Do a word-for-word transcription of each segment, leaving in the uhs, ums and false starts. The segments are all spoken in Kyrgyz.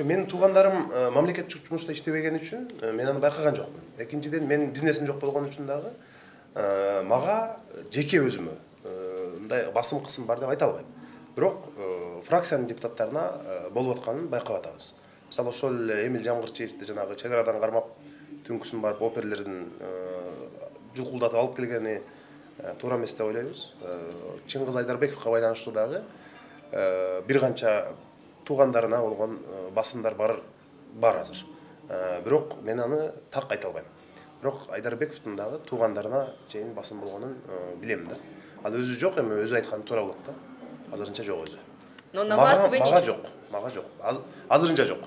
Менин туугандарым мамлекеттик жумушта иштебеген үчүн мен аны байкаган жокмун. Экинчиден менин бизнесим жок болгон үчүн дагы мага жеке өзүмө мындай басым кысым бар деп айта албайм. Бирок фракциянын депутаттарына болуп атканын байкап атабыз. Мисалы ошол Эмил Жамгырчиевди жанагы чек арадан кармап түнкүсүн барып оперлердин жулкулдатып алып келгени туура эмес деп ойлойбуз. Чыңгыз Айдарбековго байланыштуу дагы бир канча туугандарына болгон басымдар бар бар азыр. Бирок мен аны так айта албайм. Бирок Айдарбековдун дагы туугандарына чейин басым болгонун билем да. Ал өзү жок, эми өзү айтканы туура болот да. Азырынча жок өзү. Но на вас вы не... Мага жок, мага жок. Азырынча жок.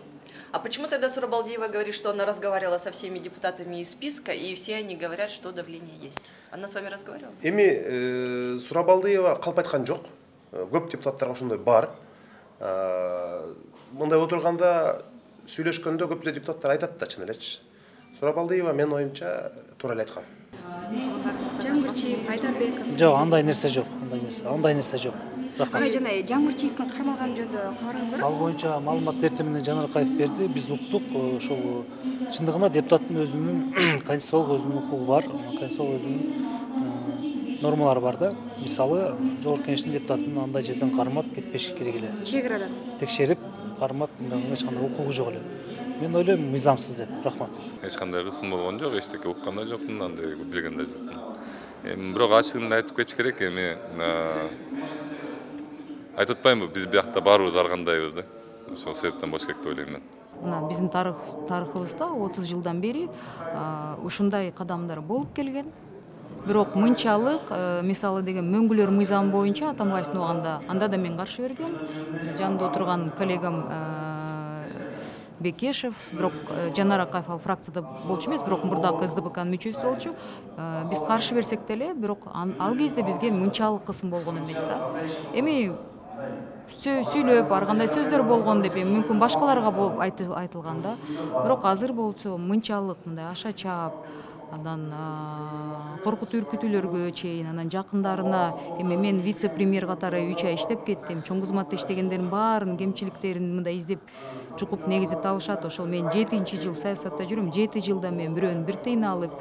А почему тогда Сурабалдиева говорит, что она разговаривала со всеми депутатами из списка, и все они говорят, что давление есть? Она с вами разговаривала? Эми Сурабалдиева калп айткан жок. Көп депутаттарга ошондой бар. Мындай отурганда сүйлөшкөндө көп эле депутаттар айтат да, чын элечи. Сурабалдиева менин оюмча туура эле айткан. Жамгырчиев, Айдарбеков. Жок, андай нерсе жок, андай нерсе, андай нерсе жок. Ага, жана Жамгырчиевдин кармалганы жөнүндө кабарыңыз барбы? Ал боюнча маалымат эртең менен Жанаркаев берди. Биз уктук, ошол чындыгында депутаттын өзүнүн конституциялык өзүнүн укугу бар, конституциялык өзүнүн нормалары бар да. Мисалы, Жогорку Кеңештин депутатын андай жерден кармап кетпеш керек эле. Чек арадан Текшерип, кармап, эч кандай укугу жок эле. Мен ойлойм, мыйзамсыз деп. Рахмат. Эч кандай кысым болгон жок, эчтеке уккан да жокмун, андай билген да жокмун. Эми бирок ачыгын айтып кетиш керек, эми айтып атпаймынбы, биз биякта баарыбыз ар кандайбыз да. Ошол себептен болуш керек деп ойлойм мен. Мына биздин тарыхыбызда отуз жылдан бери ушундай кадамдар болуп келген. Бирок мынчалык, мисалы деген мөңгүлөр мыйзамы боюнча Атамбаевдин убагында анда да мен каршы бергем. Жанымда отурган коллегам Бекешев, бирок Жанар Акаев ал фракцияда болчу эмес, бирок мурдагы эс дэ пэ канын мүчөсү болчу. Биз каршы берсек деле, бирок ал кезде бизге мынчалык кысым болгон эмес да. Эми сүйлөп, ар кандай сөздөр болгон деп, эми мүмкүн башкаларга айтылган да. Бирок азыр болсо мынчалык мындай аша чаап, анан коркутуу үркүтүүлөргө чейин, анан жакындарына, эми мен вице-премьер катары үч ай иштеп кеттим. Чоң кызматта иштегендердин баарынын кемчиликтерин мындай издеп, чукуп негизип табышат. Ошол мен жетинчи жыл саясатта жүрөм. жети жылда мен бирөөнүн бир тыйын алып,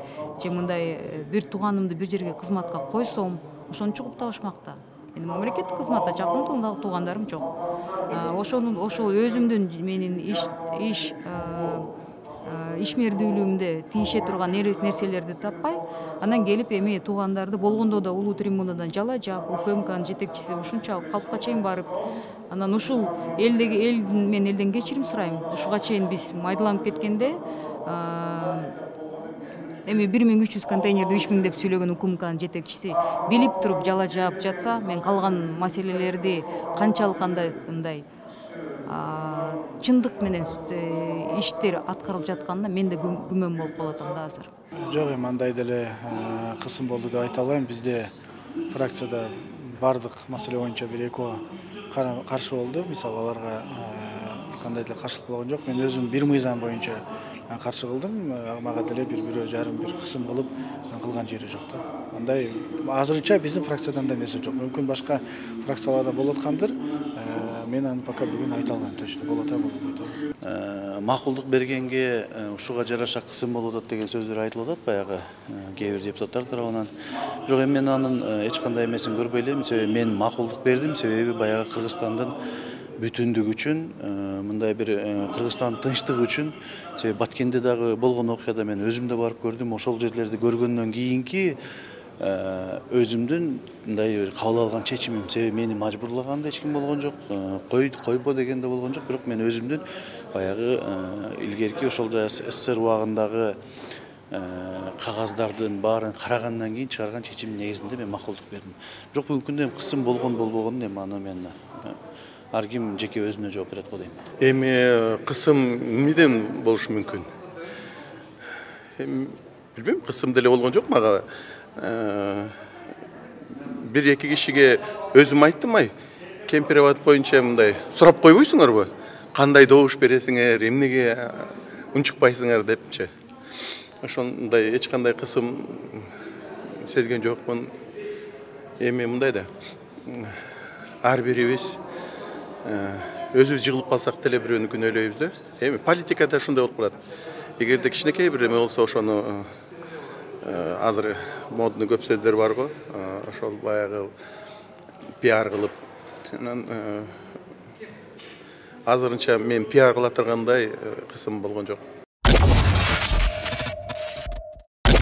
же мындай бир тууганымды бир жерге кызматка койсом, ошону чукуп табышмакта. Эми мамлекеттик кызматта жакын туугандарым жок. Ошону ошол өзүмдүн менин иш иш ишмердүүлүгүмдө тийише турган нерселерди таппай, анан келип эми туугандарды болгондо да улуу трибунадан жала жаап, У К М Кнын жетекчиси ушунчалык калпка чейин барып, анан ушул элдеги эл мен элден кечирим сурайм. Ушуга чейин биз майдаланып кеткенде эми бир миң үч жүз контейнерди үч миң деп сүйлөгөн У К М Кнын жетекчиси билип туруп жала жаап жатса, мен калган маселелерди канчалык кандай мындай чындык менен иштер аткарылып жатканына мен да күмөн болуп калып атам да азыр. Жок, эми андай деле кысым болду деп айта албайм. Бизде фракцияда бардык маселе боюнча бир экөө каршы болду. Мисалы, аларга кандай деле каршылык болгон жок. Мен өзүм бир мыйзам боюнча каршы кылдым. Мага деле бир бирөө жарым бир кысым кылып кылган жери жок да. Андай азырынча биздин фракцияда андай нерсе жок. Мүмкүн башка фракцияларда болуп аткандыр. Мен аны пока бүгүн айта албайм, точно болот а болбойт а. Макулдук бергенге ушуга жараша кысым болуп атат деген сөздөр айтылып атат баягы кээ бир депутаттар тарабынан. Бирок эми мен анын эч кандай эмесин көрбөй элем. Себеби мен макулдук бердим, себеби баягы Кыргызстандын бүтүндүгү үчүн, мындай бир Кыргызстандын тынчтыгы үчүн. Себеби Баткенде дагы болгон окуяда мен өзүм да барып көрдүм. Ошол жерлерди көргөндөн кийинки өзүмдүн мындай бир кабыл алган чечимим. Себеби мени мажбурлаган да эч ким болгон жок, кой койбо деген да болгон жок. Бирок мен өзүмдүн баягы илгерки ошол эс эс эр убагындагы кагаздардын баарын карагандан кийин чыгарган чечимдин негизинде мен макулдук бердим. Бирок бүгүнкү күндө кысым болгон болбогонун эми аны мен ар ким жеке өзүнө жооп берет го дейм. Эми кысым эмнеден болушу мүмкүн? Эми билбейм, кысым деле болгон жок мага. Бир эки кишиге өзүм айттым, ай, кемпироват боюнча мындай сурап койбойсуңарбы? Кандай добуш бересиңер, эмнеге унчукпайсыңар депчи. Ошондой эч кандай кысым сезген жокмун. Эми мындай да ар бирибиз өзүбүз жыгылып калсак деле бирөөнү күнөөлөйбүз да. Эми политикада ушундай болуп калат. Эгерде кичинекей бир эме болсо ошону азыр модный көп сөздөр бар го. Ошол баягы пиар кылып анан азырынча мен пиар кыла тургандай кысым болгон жок.